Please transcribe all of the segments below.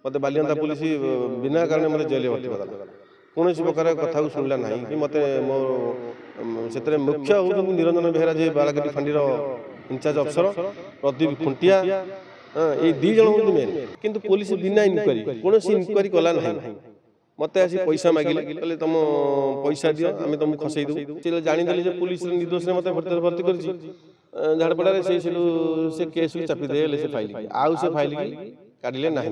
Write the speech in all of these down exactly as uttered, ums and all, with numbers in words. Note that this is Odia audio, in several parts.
ମୋତେ ବାଲିଅନ୍ତା ପୋଲିସ ବିନା କାରଣରେ ମୋତେ ଜେଲରେ ଭର୍ତ୍ତି କରିଦେଲା। କୌଣସି ପ୍ରକାର କଥାକୁ ଶୁଣିଲା ନାହିଁ କି ମୋତେ ମୋ ସେଥିରେ ମୁଖ୍ୟ ହେଉଛନ୍ତି ନିରଞ୍ଜନ ବେହେରା, ଯିଏ ବାଳକାଟି ଫାଣ୍ଡିର ଇନଚାର୍ଜ ଅଫିସର, ପ୍ରଦୀପ ଖୁଣ୍ଟିଆ, ଏଇ ଦୁଇ ଜଣ ହେଉଛନ୍ତି ମେନ୍। କିନ୍ତୁ ପୋଲିସ ବିନା ଇନକ୍ୱାରି, କୌଣସି ଇନକ୍ୱାରି କଲା ନାହିଁ। ମୋତେ ଆସି ପଇସା ମାଗିଲେ, କହିଲେ ତୁମ ପଇସା ଦିଅ, ଆମେ ତୁମକୁ ଖସେଇ ଦେବୁ। ସେ ଜାଣିଦେଲେ ଯେ ପୋଲିସର ନିର୍ଦ୍ଦୋଷରେ ମୋତେ ଭର୍ତ୍ତି କରିଛି ଝାଡ଼ପଡ଼ାରେ। ସେ ସେଠୁ ସେ କେସ୍କୁ ଚାପି ଦେଲେ ସେ ଫାଇଲ୍କି, ଆଉ ସେ ଫାଇଲ୍କି କାଢ଼ିଲେ ନାହିଁ।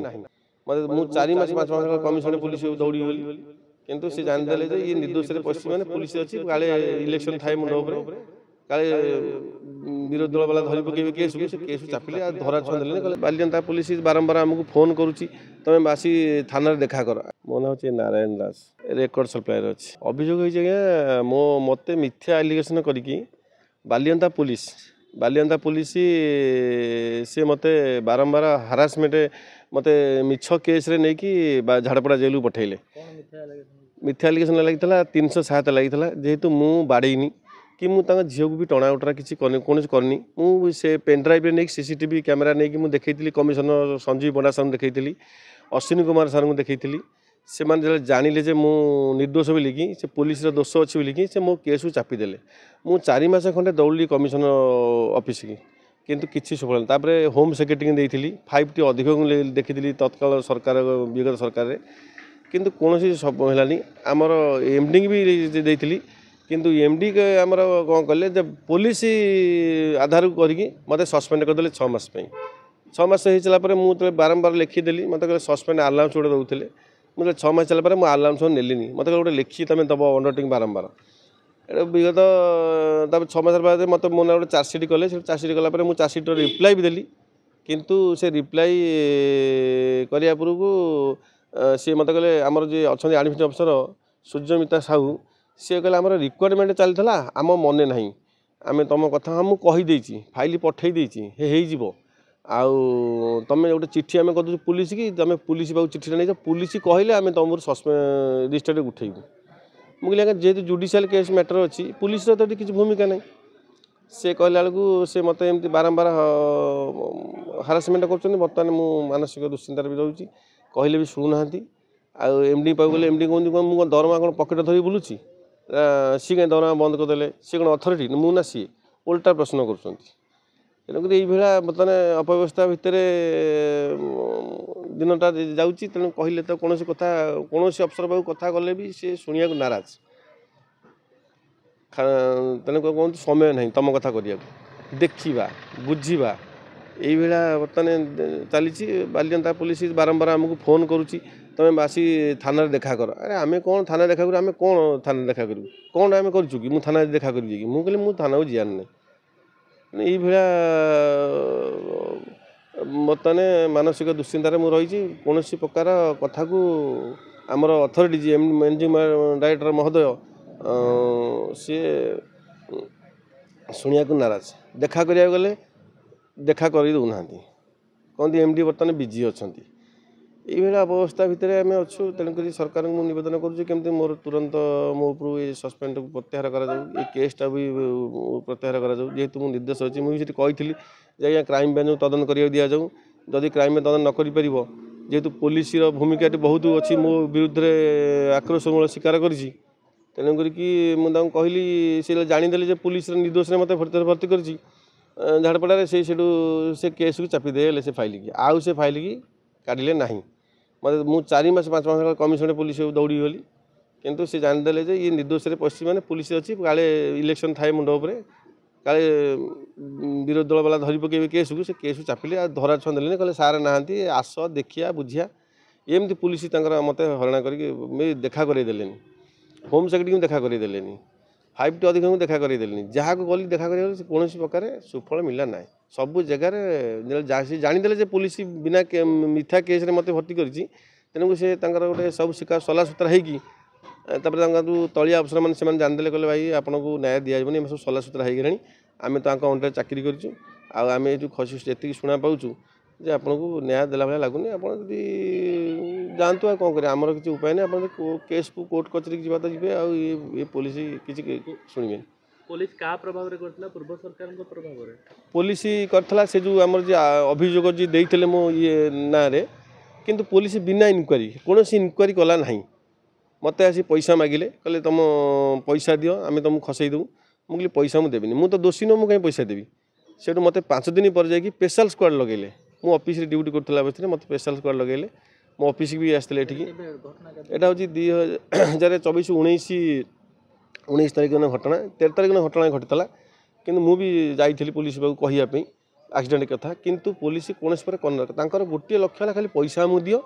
ମୋତେ ମୁଁ ଚାରି ମାସ ପାଞ୍ଚ ମାସ କମିଶନର ପୋଲିସ ଦୌଡ଼ି ଗଲି, କିନ୍ତୁ ସେ ଜାଣିଦେଲେ ଯେ ଇଏ ନିର୍ଦ୍ଦୋଷରେ ପଶିଛି, ମାନେ ପୋଲିସ ଅଛି, କାଳେ ଇଲେକ୍ସନ୍ ଥାଏ ମୁଣ୍ଡ ଉପରେ, କାଳେ ବିରୋଧୀ ଦଳ ବାଲା ଧରି ପକେଇବେ କେସ୍କୁ। ସେ କେସ୍କୁ ଚାପିଲେ, ଆଉ ଧରା ଛୁଆଁ ଦେଲେନି। କହିଲେ ବାଲିଅନ୍ତା ପୋଲିସ ବାରମ୍ବାର ଆମକୁ ଫୋନ୍ କରୁଛି, ତୁମେ ଆସି ଥାନାରେ ଦେଖା କର। ମୋ ନାଁ ହେଉଛି ନାରାୟଣ ଦାସ, ରେକର୍ଡ଼ ସପ୍ଲାୟର ଅଛି। ଅଭିଯୋଗ ହେଇଛି ଆଜ୍ଞା, ମୋ ମୋତେ ମିଥ୍ୟା ଆଲିଗେସନ୍ କରିକି ବାଲିଅନ୍ତା ପୋଲିସ ବାଲିଅନ୍ତା ପୋଲିସ ସେ ମୋତେ ବାରମ୍ବାର ହାରାସମେଣ୍ଟ, ମୋତେ ମିଛ କେସ୍ରେ ନେଇକି ଝାଡ଼ପଡ଼ା ଜେଲକୁ ପଠାଇଲେ। ମିଥ୍ୟା ଆଲିଗେସନ୍ ଲାଗିଥିଲା, ତିନିଶହ ସାତ ଲାଗିଥିଲା। ଯେହେତୁ ମୁଁ ବାଡ଼େଇନି କି ମୁଁ ତାଙ୍କ ଝିଅକୁ ବି ଟଣା ଓଟରା କିଛି କରିନି, କୌଣସି କରିନି। ମୁଁ ସେ ପେନ୍ଡ୍ରାଇଭ୍ରେ ନେଇକି C C T V camera ନେଇକି ମୁଁ ଦେଖେଇଥିଲି, କମିଶନର ସଞ୍ଜୀବ ପଣ୍ଡା ସାର୍ଙ୍କୁ ଦେଖେଇଥିଲି, ଅଶ୍ୱିନୀ କୁମାର ସାର୍ଙ୍କୁ ଦେଖେଇଥିଲି। ସେମାନେ ଯେତେବେଳେ ଜାଣିଲେ ଯେ ମୁଁ ନିର୍ଦ୍ଦୋଷ ବୋଲିକି, ସେ ପୋଲିସର ଦୋଷ ଅଛି ବୋଲିକି, ସେ ମୋ କେସ୍କୁ ଚାପିଦେଲେ। ମୁଁ ଚାରି ମାସ ଖଣ୍ଡେ ଦୌଡ଼ିଲି କମିଶନର ଅଫିସକି, କିନ୍ତୁ କିଛି ସୁଫଳ। ତାପରେ ହୋମ୍ ସେକ୍ରେଟାରୀଙ୍କୁ ଦେଇଥିଲି, ଫାଇଭ୍ ଟି ଅଧିକଙ୍କୁ ଦେଖିଥିଲି ତତ୍କାଳ ସରକାର, ବିଗତ ସରକାରରେ, କିନ୍ତୁ କୌଣସି ସବୁ ହେଲାନି। ଆମର ଏମ୍ ଡିଙ୍କି ବି ଦେଇଥିଲି, କିନ୍ତୁ ଏମ୍ ଡି ଆମର କ'ଣ କଲେ ଯେ ପୋଲିସ ଆଧାରକୁ କରିକି ମୋତେ ସସ୍ପେଣ୍ଡ କରିଦେଲେ ଛଅ ମାସ ପାଇଁ। ଛଅ ମାସ ହେଇସାରିଲା ପରେ ମୁଁ ଯେତେବେଳେ ବାରମ୍ବାର ଲେଖିଦେଲି, ମୋତେ କହିଲେ ସସ୍ପେଣ୍ଡ ଆଲାଉନ୍ସ ଗୋଟେ ଦେଉଥିଲେ। ମୁଁ ଯେତେବେଳେ ଛଅ ମାସ ଚାଲିଲା ପରେ ମୁଁ ଆଲାଉନ୍ସ ନେଲିନି। ମୋତେ କହିଲେ ଗୋଟେ ଲେଖିକି ତୁମେ ଦେବ ଅଣ୍ଡରଟେକିଂ ବାରମ୍ବାର। ଏଇଟା ବିଗତ ତାପରେ ଛଅ ମାସ ବାଦ ମୋତେ ମୋ ନାଁ ଗୋଟେ ଚାର୍ଜସିଟ୍ କଲେ। ସେ ଚାର୍ଜସିଟ୍ କଲା ପରେ ମୁଁ ଚାର୍ଜସିଟ୍ର ରିପ୍ଲାଏ ବି ଦେଲି, କିନ୍ତୁ ସେ ରିପ୍ଲାଏ କରିବା ପୂର୍ବରୁ ସିଏ ମୋତେ କହିଲେ, ଆମର ଯିଏ ଅଛନ୍ତି ଆଡ଼ମିସନ୍ ଅଫିସର ସୂର୍ଯ୍ୟମିତା ସାହୁ, ସିଏ କହିଲେ ଆମର ରିକ୍ୱାରମେଣ୍ଟ ଚାଲିଥିଲା, ଆମ ମନେ ନାହିଁ, ଆମେ ତୁମ କଥା ହଁ ମୁଁ କହିଦେଇଛି, ଫାଇଲ୍ ପଠେଇ ଦେଇଛି, ହେଇଯିବ, ଆଉ ତୁମେ ଗୋଟେ ଚିଠି ଆମେ କରିଦେଉଛୁ ପୋଲିସକି, ତୁମେ ପୋଲିସ ପାଖକୁ ଚିଠିଟା ନେଇଯାଅ, ପୋଲିସ କହିଲେ ଆମେ ତୁମର ସସ୍ପେଣ୍ଡ ରେଜିଷ୍ଟର୍ରେ ଉଠେଇବୁ। ମୁଁ କହିଲି ଆଜ୍ଞା, ଯେହେତୁ ଜୁଡ଼ିସିଆଲ କେସ୍ ମ୍ୟାଟର୍ ଅଛି, ପୋଲିସର ତ ଏଠି କିଛି ଭୂମିକା ନାହିଁ। ସେ କହିଲା ବେଳକୁ ସେ ମୋତେ ଏମିତି ବାରମ୍ବାର ହାରାସମେଣ୍ଟ କରୁଛନ୍ତି। ବର୍ତ୍ତମାନ ମୁଁ ମାନସିକ ଦୁଶ୍ଚିନ୍ତାରେ ବି ରହୁଛି, କହିଲେ ବି ଶୁଣୁନାହାନ୍ତି। ଆଉ ଏମ୍ ଡି ପାଖକୁ ଗଲେ ଏମ୍ ଡି କହୁଛନ୍ତି କ'ଣ ମୁଁ କ'ଣ ଦରମା କ'ଣ ପକେଟ୍ ଧରି ବୁଲୁଛି? ସିଏ କାହିଁ ଦରମା ବନ୍ଦ କରିଦେଲେ? ସିଏ କ'ଣ ଅଥରିଟି, ମୁଁ ନା ସିଏ? ଓଲଟା ପ୍ରଶ୍ନ କରୁଛନ୍ତି। ତେଣୁକରି ଏଇଭଳିଆ ବର୍ତ୍ତମାନ ଅପବ୍ୟବସ୍ଥା ଭିତରେ ଦିନଟା ଯାଉଛି। ତେଣୁ କହିଲେ ତ କୌଣସି କଥା, କୌଣସି ଅଫିସର ପାଖକୁ କଥା ଗଲେ ବି ସେ ଶୁଣିବାକୁ ନାରାଜ। ତେଣୁ କୁହନ୍ତି ସମୟ ନାହିଁ ତୁମ କଥା କରିବାକୁ, ଦେଖିବା ବୁଝିବା, ଏଇଭଳିଆ ବର୍ତ୍ତମାନ ଚାଲିଛି। ବାଲିଅନ୍ତା ପୋଲିସ ବାରମ୍ବାର ଆମକୁ ଫୋନ୍ କରୁଛି, ତୁମେ ଆସି ଥାନାରେ ଦେଖା କର। ଆରେ ଆମେ କ'ଣ ଥାନାରେ ଦେଖା କରିବୁ? ଆମେ କ'ଣ ଥାନାରେ ଦେଖା କରିବୁ? କ'ଣ ଆମେ କରିଛୁ କି ମୁଁ ଥାନାରେ ଦେଖା କରିବି କି? ମୁଁ କହିଲି ମୁଁ ଥାନାକୁ ଯିବାର ନାହିଁ। ଏଇଭଳିଆ ବର୍ତ୍ତମାନ ମାନସିକ ଦୁଶ୍ଚିନ୍ତାରେ ମୁଁ ରହିଛି। କୌଣସି ପ୍ରକାର କଥାକୁ ଆମର ଅଥରିଟି ଯିଏ ମ୍ୟାନେଜିଂ ଡାଇରେକ୍ଟର ମହୋଦୟ, ସିଏ ଶୁଣିବାକୁ ନାରାଜ। ଦେଖା କରିବାକୁ ଗଲେ ଦେଖା କରି ଦେଉନାହାନ୍ତି, କହନ୍ତି ଏମ୍ ଡି ବର୍ତ୍ତମାନ ବିଜି ଅଛନ୍ତି। ଏଇଭଳିଆ ଅବସ୍ଥା ଭିତରେ ଆମେ ଅଛୁ। ତେଣୁକରି ସରକାରଙ୍କୁ ମୁଁ ନିବେଦନ କରୁଛି, କେମିତି ମୋର ତୁରନ୍ତ ମୋ ଉପରୁ ଏ ସସ୍ପେଣ୍ଡକୁ ପ୍ରତ୍ୟାହାର କରାଯାଉ, ଏ କେସ୍ଟା ବି ପ୍ରତ୍ୟାହାର କରାଯାଉ। ଯେହେତୁ ମୁଁ ନିର୍ଦ୍ଦେଶ ଅଛି, ମୁଁ ବି ସେଠି କହିଥିଲି ଯେ ଆଜ୍ଞା କ୍ରାଇମ୍ ବ୍ରାଞ୍ଚକୁ ତଦନ୍ତ କରିବାକୁ ଦିଆଯାଉ। ଯଦି କ୍ରାଇମ୍ ତଦନ୍ତ ନ କରିପାରିବ, ଯେହେତୁ ପୋଲିସର ଭୂମିକା ଏଠି ବହୁତ ଅଛି, ମୋ ବିରୁଦ୍ଧରେ ଆକ୍ରୋଶମୂଳକ ସ୍ୱୀକାର କରିଛି। ତେଣୁକରିକି ମୁଁ ତାଙ୍କୁ କହିଲି, ସେ ଜାଣିଦେଲେ ଯେ ପୋଲିସର ନିର୍ଦ୍ଦୋଷରେ ମୋତେ ଭର୍ତ୍ତି କରିଛି ଝାଡ଼ପଡ଼ାରେ। ସେ ସେଠୁ ସେ କେସ୍କୁ ଚାପି ଦେଲେ ସେ ଫାଇଲ୍କି, ଆଉ ସେ ଫାଇଲ୍କି କାଢ଼ିଲେ ନାହିଁ। ମୋତେ ମୁଁ ଚାରି ମାସ ପାଞ୍ଚ ମାସ କମିଶନର ପୋଲିସ ଦୌଡ଼ି ଗଲି, କିନ୍ତୁ ସେ ଜାଣିଦେଲେ ଯେ ଇଏ ନିର୍ଦ୍ଦୋଷରେ ପଶିଛି, ମାନେ ପୋଲିସ ଅଛି, କାଳେ ଇଲେକ୍ସନ୍ ଥାଏ ମୁଣ୍ଡ ଉପରେ, କାଳେ ବିରୋଧୀ ଦଳ ବାଲା ଧରି ପକେଇବେ କେସ୍କୁ। ସେ କେସ୍କୁ ଚାପିଲେ, ଆଉ ଧରା ଛୁଆଁ ଦେଲେନି। କହିଲେ ସାର୍ ନାହାନ୍ତି, ଆସ ଦେଖିବା ବୁଝିବା। ଏମିତି ପୋଲିସ ତାଙ୍କର ମୋତେ ହଇରାଣ କରିକି ଦେଖା କରେଇ ଦେଲେନି, ହୋମ୍ ସେକ୍ରେଟାରୀଙ୍କୁ ଦେଖା କରେଇ ଦେଲେନି, ଫାଇଭ୍ ଟି ଅଧିକାରୀଙ୍କୁ ଦେଖା କରେଇ ଦେଲେନି। ଯାହାକୁ ଗଲି ଦେଖା କରିବାକୁ, କୌଣସି ପ୍ରକାର ସୁଫଳ ମିଳିଲା ନାହିଁ। ସବୁ ଜାଗାରେ ସେ ଜାଣିଦେଲେ ଯେ ପୋଲିସ ବିନା ମିଥ୍ୟା କେସ୍ରେ ମୋତେ ଭର୍ତ୍ତି କରିଛି। ତେଣୁ ସେ ତାଙ୍କର ଗୋଟେ ସବୁ ଶିକାର ସଲାସୁତରା ହେଇକି, ତାପରେ ତାଙ୍କ ଯେଉଁ ତଳିଆ ଅଫିସରମାନେ ସେମାନେ ଜାଣିଦେଲେ, କହିଲେ ଭାଇ ଆପଣଙ୍କୁ ନ୍ୟାୟ ଦିଆଯିବନି, ଆମେ ସବୁ ସଲାସୁତରା ହେଇଗଲାଣି, ଆମେ ତାଙ୍କ ଅଣ୍ଡରରେ ଚାକିରି କରିଛୁ, ଆଉ ଆମେ ଏଇ ଯେଉଁ ଖସି ଏତିକି ଶୁଣା ପାଉଛୁ ଯେ ଆପଣଙ୍କୁ ନ୍ୟାୟ ଦେଲା ଭଳିଆ ଲାଗୁନି, ଆପଣ ଯଦି ଯାଆନ୍ତୁ, ଆଉ କ'ଣ କରିବେ, ଆମର କିଛି ଉପାୟ ନାହିଁ। ଆପଣ କେସ୍କୁ କୋର୍ଟ କଚେରୀକି ଯିବା ତ ଯିବେ, ଆଉ ଏ ପୋଲିସ କିଛି ଶୁଣିବେନି। ପୋଲିସ କାହା ପ୍ରଭାବରେ କରିଥିଲା? ପୂର୍ବ ସରକାରଙ୍କ ପ୍ରଭାବରେ ପୋଲିସ କରିଥିଲା। ସେ ଯେଉଁ ଆମର ଯିଏ ଅଭିଯୋଗ ଯିଏ ଦେଇଥିଲେ ମୋ ଇଏ ନାଁରେ, କିନ୍ତୁ ପୋଲିସ ବିନା ଇନକ୍ୱାରି କୌଣସି ଇନକ୍ୱାରି କଲା ନାହିଁ ମୋତେ ଆସି ପଇସା ମାଗିଲେ କହିଲେ ତୁମ ପଇସା ଦିଅ ଆମେ ତୁମକୁ ଖସେଇ ଦେବୁ ମୁଁ କହିଲି ପଇସା ମୁଁ ଦେବିନି ମୁଁ ତ ଦୋଷୀ ନୁହଁ ମୁଁ କାହିଁ ପଇସା ଦେବି ସେଠୁ ମୋତେ ପାଞ୍ଚ ଦିନ ପରେ ଯାଇକି ସ୍ପେଶାଲ ସ୍କ୍ୱାଡ଼ ଲଗେଇଲେ ମୁଁ ଅଫିସରେ ଡ୍ୟୁଟି କରୁଥିଲା ଅବସ୍ଥାରେ ମୋତେ ସ୍ପେଶାଲ ସ୍କ୍ୱାଡ଼ ଲଗେଇଲେ ମୋ ଅଫିସକି ବି ଆସିଥିଲେ ଏଠିକି ଏଇଟା ହେଉଛି ଦୁଇ ହଜାର ଚବିଶ ଉଣେଇଶ ଉଣେଇଶ ତାରିଖ ଦିନ ଘଟଣା ତେର ତାରିଖ ଦିନ ଘଟଣା ଘଟିଥିଲା କିନ୍ତୁ ମୁଁ ବି ଯାଇଥିଲି ପୋଲିସ ପାଖକୁ କହିବା ପାଇଁ ଆକ୍ସିଡେଣ୍ଟ କଥା କିନ୍ତୁ ପୋଲିସ କୌଣସି ପ୍ରକାର କରିନ ତାଙ୍କର ଗୋଟିଏ ଲକ୍ଷ୍ୟ ହେଲା ଖାଲି ପଇସା ଆମକୁ ଦିଅ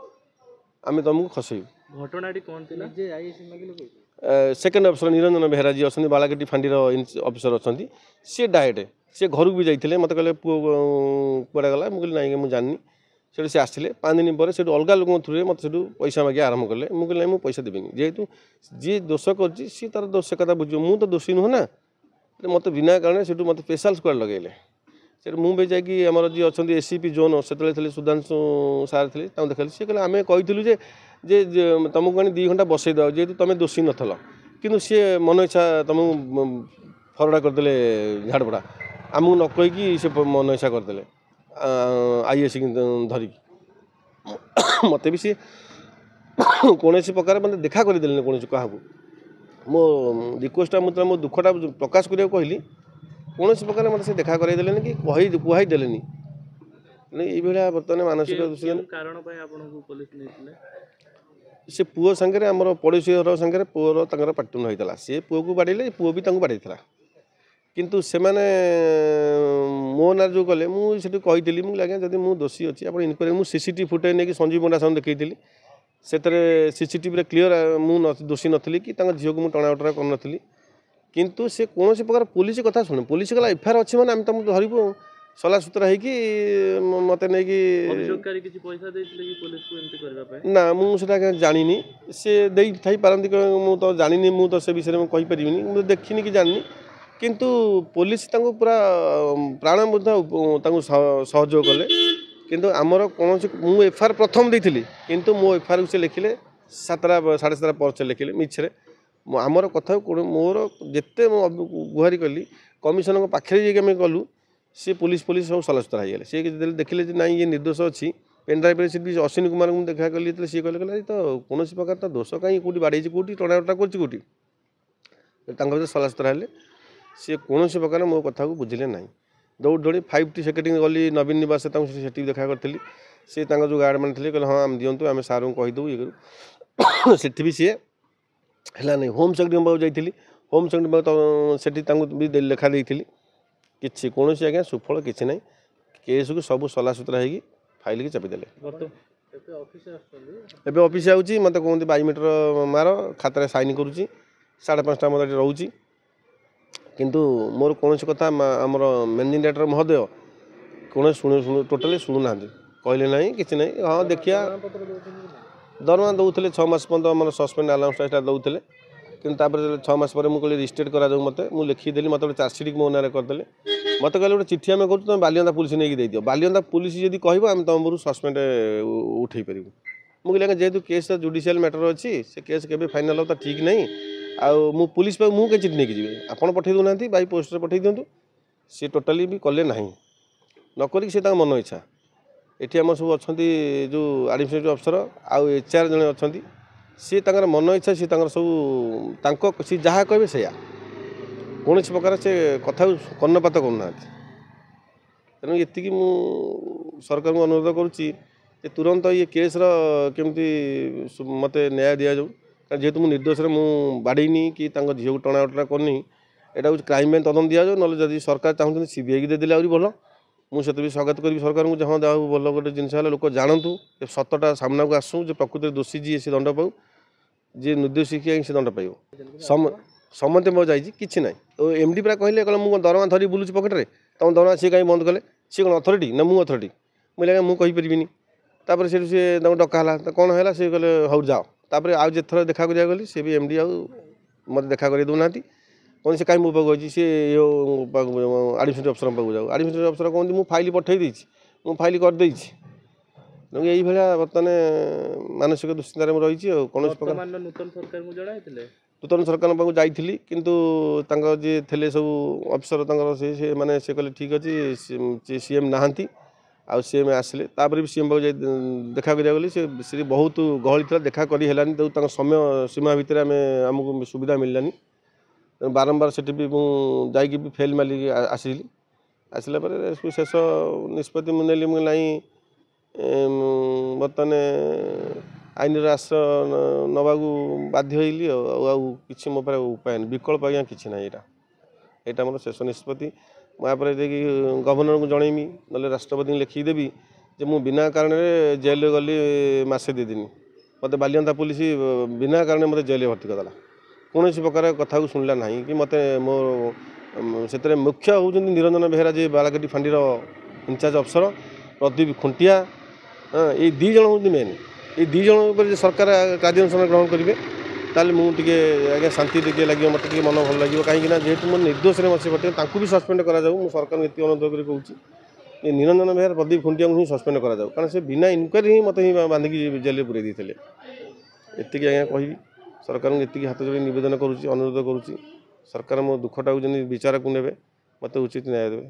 ଆମେ ତୁମକୁ ଖସେଇବୁ ଘଟଣାଟି କ'ଣ ଥିଲା ସେକେଣ୍ଡ ଅଫିସର ନିରଞ୍ଜନ ବେହେରା ଯିଏ ଅଛନ୍ତି ବାଳାକେଟି ଫାଣ୍ଡିର ଅଫିସର ଅଛନ୍ତି ସିଏ ଡାଇରେକ୍ଟ ସିଏ ଘରକୁ ବି ଯାଇଥିଲେ ମୋତେ କହିଲେ ପୁଅ କୁଆଡ଼େ ଗଲା ମୁଁ କହିଲି ନାଇଁ ମୁଁ ଜାଣିନି ସେଠୁ ସେ ଆସିଲେ ପାଞ୍ଚ ଦିନ ପରେ ସେଠୁ ଅଲଗା ଲୋକଙ୍କ ଥ୍ରୁରେ ମୋତେ ସେଠୁ ପଇସା ମାଗିବା ଆରମ୍ଭ କଲେ ମୁଁ କହିଲି ନାଇଁ ମୁଁ ପଇସା ଦେବିନି ଯେହେତୁ ଯିଏ ଦୋଷ କରିଛି ସିଏ ତାର ଦୋଷ କଥା ବୁଝିବ ମୁଁ ତ ଦୋଷୀ ନୁହଁ ନା ମୋତେ ବିନା କାରଣରେ ସେଠୁ ମୋତେ ସ୍ପେଶାଲ ସ୍କ୍ୱାଡ଼ ଲଗେଇଲେ ସେଠୁ ମୁଁ ବି ଯାଇକି ଆମର ଯିଏ ଅଛନ୍ତି ଏ ସି ପି ଜୋନ୍ ସେତେବେଳେ ଥିଲେ ସୁଧାଂଶୁ ସାର୍ ଥିଲେ ତାଙ୍କୁ ଦେଖାଇଲି ସିଏ କହିଲେ ଆମେ କହିଥିଲୁ ଯେ ଯେ ତୁମକୁ ଆଣି ଦୁଇ ଘଣ୍ଟା ବସେଇ ଦେବା ଯେହେତୁ ତୁମେ ଦୋଷୀ ନଥିଲ କିନ୍ତୁ ସିଏ ମନ ଇଚ୍ଛା ତୁମକୁ ଫରଡ଼ା କରିଦେଲେ ଝାଡ଼ପଡ଼ା ଆମକୁ ନ କହିକି ସେ ମନ ଇଚ୍ଛା କରିଦେଲେ I S ଧରିକି ମୋତେ ବି ସିଏ କୌଣସି ପ୍ରକାର ମୋତେ ଦେଖା କରିଦେଲେନି କୌଣସି କାହାକୁ ମୋ ରିକ୍ୱେଷ୍ଟଟା ମୁଁ ମୋ ଦୁଃଖଟା ପ୍ରକାଶ କରିବାକୁ କହିଲି କୌଣସି ପ୍ରକାର ମୋତେ ସେ ଦେଖା କରାଇ ଦେଲେନି କି କହି କୁହାଇ ଦେଲେନି ଏଇଭଳିଆ ବର୍ତ୍ତମାନ ମାନସିକ କେଉଁ କାରଣ ପାଇଁ ଆପଣଙ୍କୁ ପୋଲିସ ନେଇଥିଲେ ସେ ପୁଅ ସାଙ୍ଗରେ ଆମର ପଡ଼ୋଶୀ ଘର ସାଙ୍ଗରେ ପୁଅର ତାଙ୍କର ପାଟିତୁଣ୍ଡ ହେଇଥିଲା ସେ ପୁଅକୁ ବାଡ଼େଇଲେ ପୁଅ ବି ତାଙ୍କୁ ବାଡ଼େଇଥିଲା କିନ୍ତୁ ସେମାନେ ମୋ ନାଁରେ ଯେଉଁ କଲେ ମୁଁ ସେଠି କହିଥିଲି ମୁଁ ଆଜ୍ଞା ଯଦି ମୁଁ ଦୋଷୀ ଅଛି ଆପଣ ଇନକ୍ୱାରି ମୁଁ C C T V footage ନେଇକି ସଞ୍ଜୀବ ପଣ୍ଡା ସାର୍ଙ୍କୁ ଦେଖେଇଥିଲି ସେଥିରେ ସିସିଟିଭିରେ କ୍ଲିଅର ମୁଁ ଦୋଷୀ ନଥିଲି କି ତାଙ୍କ ଝିଅକୁ ମୁଁ ଟଣା ଓଟରା କରିନଥିଲି କିନ୍ତୁ ସେ କୌଣସି ପ୍ରକାର ପୋଲିସ କଥା ଶୁଣୁ ପୋଲିସ କହିଲା ଏଫଆଇଆର୍ ଅଛି ମାନେ ଆମେ ତୁମକୁ ଧରିବୁ ସଲାସୁତରା ହେଇକି ମୋତେ ନେଇକି ଅଭିଯୋଗକାରୀ କିଛି ପଇସା ଦେଇଥିଲେ କି ପୋଲିସକୁ ଏମିତି କରିବା ପାଇଁ ନା ମୁଁ ସେଟା ଆଜ୍ଞା ଜାଣିନି ସେ ଦେଇଥାଇପାରନ୍ତି ମୁଁ ତ ଜାଣିନି ମୁଁ ତ ସେ ବିଷୟରେ ମୁଁ କହିପାରିବିନି ମୁଁ ଦେଖିନି କି ଜାଣିନି କିନ୍ତୁ ପୋଲିସ ତାଙ୍କୁ ପୁରା ପ୍ରାଣ ମଧ୍ୟ ତାଙ୍କୁ ସହଯୋଗ କଲେ କିନ୍ତୁ ଆମର କୌଣସି ମୁଁ ଏଫଆଇଆର୍ ପ୍ରଥମ ଦେଇଥିଲି କିନ୍ତୁ ମୋ ଏଫଆଇଆର୍କୁ ସେ ଲେଖିଲେ ସାତଟା ସାଢ଼େ ସାତଟା ପରେ ସେ ଲେଖିଲେ ମିଛରେ ଆମର କଥା ମୋର ଯେତେ ମୁଁ ଗୁହାରି କଲି କମିଶନରଙ୍କ ପାଖରେ ଯାଇକି ଆମେ ଗଲୁ ସିଏ ପୋଲିସ ପୋଲିସ ସବୁ ସଲାସୁତରା ହେଇଗଲେ ସିଏ ଯେତେବେଳେ ଦେଖିଲେ ଯେ ନାଇଁ ଇଏ ନିର୍ଦ୍ଦୋଷ ଅଛି ପେନ୍ଡ୍ରାଇଭ୍ରେ ସେଠି ଅଶ୍ୱିନୀ କୁମାରଙ୍କୁ ମୁଁ ଦେଖା କଲି ଯେତେବେଳେ ସିଏ କହିଲେ କହିଲେ ତ କୌଣସି ପ୍ରକାର ତ ଦୋଷ କାହିଁ କେଉଁଠି ବାଡ଼େଇଛି କେଉଁଠି ଟଣା ଓଟରା କରୁଛି କେଉଁଠି ତାଙ୍କ ଭିତରେ ସଲାସୁତରା ହେଲେ ସିଏ କୌଣସି ପ୍ରକାର ମୋ କଥାକୁ ବୁଝିଲେ ନାହିଁ ଦୌଡ଼ି ଦୌଡ଼ି ଫାଇଭ୍ ଟି ସେକ୍ରେଟାରୀ ଗଲି ନବୀନ ନିବାସ ତାଙ୍କୁ ସେଠି ବି ଦେଖା କରିଥିଲି ସିଏ ତାଙ୍କ ଯେଉଁ ଗାର୍ଡ଼ ମାନେ ଥିଲେ କହିଲେ ହଁ ଆମେ ଦିଅନ୍ତୁ ଆମେ ସାର୍ଙ୍କୁ କହିଦେବୁ ଇଏ କରିବୁ ସେଠି ବି ସିଏ ହେଲା ନାହିଁ ହୋମ୍ ସେକ୍ରେଟାରୀଙ୍କ ପାଖକୁ ଯାଇଥିଲି ହୋମ୍ ସେକ୍ରେଟାରୀ ପାଖକୁ ସେଠି ତାଙ୍କୁ ବି ଲେଖା ଦେଇଥିଲି କିଛି କୌଣସି ଆଜ୍ଞା ସୁଫଳ କିଛି ନାହିଁ କେସ୍କୁ ସବୁ ସଲାସୁତରା ହେଇକି ଫାଇଲ୍କି ଚାପିଦେଲେ ଏବେ ଅଫିସ୍ ଯାଉଛି ମୋତେ କୁହନ୍ତି ବାୟୋମେଟ୍ରିକ ମାର ଖାତାରେ ସାଇନ୍ କରୁଛି ସାଢ଼େ ପାଞ୍ଚଟା ମୋତେ ଏଠି ରହୁଛି କିନ୍ତୁ ମୋର କୌଣସି କଥା ଆମର ମ୍ୟାନେଜିଂ ଡାଇରେକ୍ଟର ମହୋଦୟ କୌଣସି ଶୁଣୁ ଶୁଣୁ ଟୋଟାଲି ଶୁଣୁନାହାନ୍ତି କହିଲେ ନାହିଁ କିଛି ନାହିଁ ହଁ ଦେଖିବା ଦରମା ଦେଉଥିଲେ ଛଅ ମାସ ପର୍ଯ୍ୟନ୍ତ ଆମର ସସ୍ପେଣ୍ଡ ଆଲାଉନ୍ସଟା ଦେଉଥିଲେ କିନ୍ତୁ ତାପରେ ଛଅ ମାସ ପରେ ମୁଁ କହିଲି ରିଷ୍ଟେଟ୍ କରାଯାଉ ମୋତେ ମୁଁ ଲେଖିକି ଦେଲି ମୋତେ ଗୋଟେ ଚାର୍ଜସିଟ୍ ମୋ ନାଁରେ କରିଦେଲେ ମୋତେ କହିଲେ ଗୋଟେ ଚିଠି ଆମେ କରୁଛୁ ତୁମେ ବାଲିଅନ୍ତା ପୋଲିସ ନେଇକି ଦେଇଦିଅ ବାଲିଅନ୍ତା ପୋଲିସ ଯଦି କହିବ ଆମେ ତୁମ ଉପରୁ ସସ୍ପେଣ୍ଡ ଉଠେଇ ପାରିବୁ ମୁଁ କହିଲି ଆଜ୍ଞା ଯେହେତୁ କେସ୍ ଜୁଡ଼ିସିଆଲ ମ୍ୟାଟର ଅଛି ସେ କେସ୍ କେବେ ଫାଇନାଲ୍ ହେବ ତା ଠିକ୍ ନାହିଁ ଆଉ ମୁଁ ପୋଲିସ ପାଖକୁ ମୁଁ କାହିଁ ଚିଠି ନେଇକି ଯିବି ଆପଣ ପଠେଇ ଦେଉନାହାନ୍ତି ବାଇ ପୋଷ୍ଟରେ ପଠେଇ ଦିଅନ୍ତୁ ସିଏ ଟୋଟାଲି ବି କଲେ ନାହିଁ ନ କରିକି ସେ ତାଙ୍କ ମନ ଇଚ୍ଛା ଏଠି ଆମର ସବୁ ଅଛନ୍ତି ଯେଉଁ ଆଡ଼ମିନିଷ୍ଟ୍ରେଟିଭ୍ ଅଫିସର ଆଉ ଏଚ୍ ଆର୍ ଜଣେ ଅଛନ୍ତି ସିଏ ତାଙ୍କର ମନ ଇଚ୍ଛା ସିଏ ତାଙ୍କର ସବୁ ତାଙ୍କ ସିଏ ଯାହା କହିବେ ସେଇଆ କୌଣସି ପ୍ରକାର ସେ କଥାକୁ କର୍ଣ୍ଣପାତ କରୁନାହାନ୍ତି ତେଣୁ ଏତିକି ମୁଁ ସରକାରଙ୍କୁ ଅନୁରୋଧ କରୁଛି ଯେ ତୁରନ୍ତ ଇଏ କେସ୍ର କେମିତି ମୋତେ ନ୍ୟାୟ ଦିଆଯାଉ କାରଣ ଯେହେତୁ ମୁଁ ନିର୍ଦ୍ଦୋଷରେ ମୁଁ ବାଡ଼େଇନି କି ତାଙ୍କ ଝିଅକୁ ଟଣା ଓଟରା କରିନି ଏଇଟା ହେଉଛି କ୍ରାଇମ୍ ବ୍ରାଞ୍ଚ ତଦନ୍ତ ଦିଆଯାଉ ନହେଲେ ଯଦି ସରକାର ଚାହୁଁଛନ୍ତି ସିବିଆଇକି ଦେଇଦେଲେ ଆହୁରି ଭଲ ମୁଁ ସେଥିରେ ବି ସ୍ୱାଗତ କରିବି ସରକାରଙ୍କୁ ଯେ ହଁ ଯାହା ହଉ ଭଲ ଗୋଟେ ଜିନିଷ ହେଲା ଲୋକ ଜାଣନ୍ତୁ ଏ ସତଟା ସାମ୍ନାକୁ ଆସୁ ଯେ ପ୍ରକୃତରେ ଦୋଷୀ ଯିଏ ସେ ଦଣ୍ଡ ପାଉ ଯିଏ ନିର୍ଦ୍ଦୋଷୀ କିଏ ସେ ଦଣ୍ଡ ପାଇବ ସମ ସମସ୍ତେ ମୋ ଯାଇଛି କିଛି ନାହିଁ ଓ ଏମ୍ ଡି ପରା କହିଲେ କହିଲେ ମୁଁ କ'ଣ ଦରମା ଧରି ବୁଲୁଛି ପକେଟରେ ତମ ଦରମା ସିଏ କାହିଁ ବନ୍ଦ କଲେ ସିଏ କ'ଣ ଅଥରିଟି ନା ମୁଁ ଅଥରିଟି ମୁଁ କହିଲି ଆଜ୍ଞା ମୁଁ କହିପାରିବିନି ତାପରେ ସେଠୁ ସିଏ ତାଙ୍କୁ ଡକା ହେଲା କ'ଣ ହେଲା ସିଏ କହିଲେ ହଉ ଯାଅ ତାପରେ ଆଉ ଯେତେଥର ଦେଖା କରିବାକୁ ଗଲି ସିଏ ବି ଏମ୍ ଡି ଆଉ ମୋତେ ଦେଖା କରେଇ ଦେଉନାହାନ୍ତି କ'ଣ ସେ କାହିଁ ମୋ ପାଖକୁ ଆଇଛି ସିଏ ଆଡ଼ମିନିଷ୍ଟ୍ରେଟିଭ୍ ଅଫିସରଙ୍କ ପାଖକୁ ଯାଉ ଆଡ଼ମିନିଷ୍ଟ୍ରେଟିଭ୍ ଅଫିସର କହନ୍ତି ମୁଁ ଫାଇଲ୍ ପଠେଇ ଦେଇଛି ମୁଁ ଫାଇଲ୍ କରିଦେଇଛି ତେଣୁ ଏଇଭଳିଆ ବର୍ତ୍ତମାନ ମାନସିକ ଦୁଶ୍ଚିନ୍ତାରେ ମୁଁ ରହିଛି ଆଉ କୌଣସି ପ୍ରକାର ବର୍ତ୍ତମାନର ନୂତନ ସରକାରଙ୍କୁ ଜଣାଇଥିଲେ ନୂତନ ସରକାରଙ୍କ ପାଖକୁ ଯାଇଥିଲି କିନ୍ତୁ ତାଙ୍କ ଯିଏ ଥିଲେ ସବୁ ଅଫିସର ତାଙ୍କର ସେ ସେମାନେ ସେ କହିଲେ ଠିକ୍ ଅଛି ସି ଏମ୍ ନାହାନ୍ତି ଆଉ ସି ଏମ୍ ଆସିଲେ, ତାପରେ ବି ସି ଏମ୍ ପାଖକୁ ଯାଇ ଦେଖା କରିବାକୁ ଗଲି। ସେ ସେଠି ବହୁତ ଗହଳି ଥିଲା, ଦେଖା କରି ହେଲାନି। ତେଣୁ ତାଙ୍କ ସମୟ ସୀମା ଭିତରେ ଆମେ ଆମକୁ ସୁବିଧା ମିଳିଲାନି। ତେଣୁ ବାରମ୍ବାର ସେଠି ବି ମୁଁ ଯାଇକି ବି ଫେଲ୍ ମାରିକି ଆସିଲି। ଆସିଲା ପରେ ଶେଷ ନିଷ୍ପତ୍ତି ମୁଁ ନେଲି, ମୁଁ ନାଇଁ, ବର୍ତ୍ତମାନ ଆଇନର ଆଶ୍ରୟ ନେବାକୁ ବାଧ୍ୟ ହେଇଲି। ଆଉ ଆଉ କିଛି ମୋ ପାଖରେ ଉପାୟ ନାହିଁ, ବିକଳ୍ପ ଆଜ୍ଞା କିଛି ନାହିଁ। ଏଇଟା ଏଇଟା ମୋର ଶେଷ ନିଷ୍ପତ୍ତି। ମୁଁ ୟାପରେ ଯାଇକି ଗଭର୍ଣ୍ଣରଙ୍କୁ ଜଣେଇବି, ନହେଲେ ରାଷ୍ଟ୍ରପତିଙ୍କୁ ଲେଖିକି ଦେବି ଯେ ମୁଁ ବିନା କାରଣରେ ଜେଲରେ ଗଲି ମାସେ ଦୁଇ ଦିନ। ମୋତେ ବାଲିଅନ୍ତା ପୋଲିସ ବିନା କାରଣରେ ମୋତେ ଜେଲରେ ଭର୍ତ୍ତି କରିଦେଲା। କୌଣସି ପ୍ରକାର କଥାକୁ ଶୁଣିଲା ନାହିଁ କି ମୋତେ ମୋ ସେଥିରେ ମୁଖ୍ୟ ହେଉଛନ୍ତି ନିରଞ୍ଜନ ବେହେରା, ଯିଏ ବାଳକାଟି ଫାଣ୍ଡିର ଇନଚାର୍ଜ ଅଫିସର, ପ୍ରଦୀପ ଖୁଣ୍ଟିଆ, ଏଇ ଦୁଇ ଜଣ ହେଉଛନ୍ତି ମେନ୍। ଏଇ ଦୁଇ ଜଣ ଉପରେ ଯଦି ସରକାର କାର୍ଯ୍ୟାନୁଷ୍ଠାନ ଗ୍ରହଣ କରିବେ, ତାହେଲେ ମୁଁ ଟିକେ ଆଜ୍ଞା ଶାନ୍ତି ଟିକେ ଲାଗିବ, ମୋତେ ଟିକେ ମନ ଭଲ ଲାଗିବ। କାହିଁକିନା ଯେହେତୁ ମୁଁ ନିର୍ଦ୍ଦୋଷରେ ବସି ପଡ଼ିଥିଲି, ତାଙ୍କୁ ବି ସସ୍ପେଣ୍ଡ କରାଯାଉ। ମୁଁ ସରକାରଙ୍କୁ ଏତିକି ଅନୁରୋଧ କରି କହୁଛି ଯେ ନିରଞ୍ଜନ ବେହେରା, ପ୍ରଦୀପ ଖୁଣ୍ଟିଆଙ୍କୁ ହିଁ ସସ୍ପେଣ୍ଡ କରାଯାଉ, କାରଣ ସେ ବିନା ଇନକ୍ୱାରି ହିଁ ମୋତେ ହିଁ ବାନ୍ଧିକି ଜେଲରେ ପୁରେଇ ଦେଇଥିଲେ। ଏତିକି ଆଜ୍ଞା କହିବି, ସରକାରଙ୍କୁ ଏତିକି ହାତ ଯୋଡ଼ି ନିବେଦନ କରୁଛି, ଅନୁରୋଧ କରୁଛି, ସରକାର ମୋ ଦୁଃଖଟାକୁ ଯେମିତି ବିଚାରକୁ ନେବେ, ମୋତେ ଉଚିତ ନ୍ୟାୟ ଦେବେ।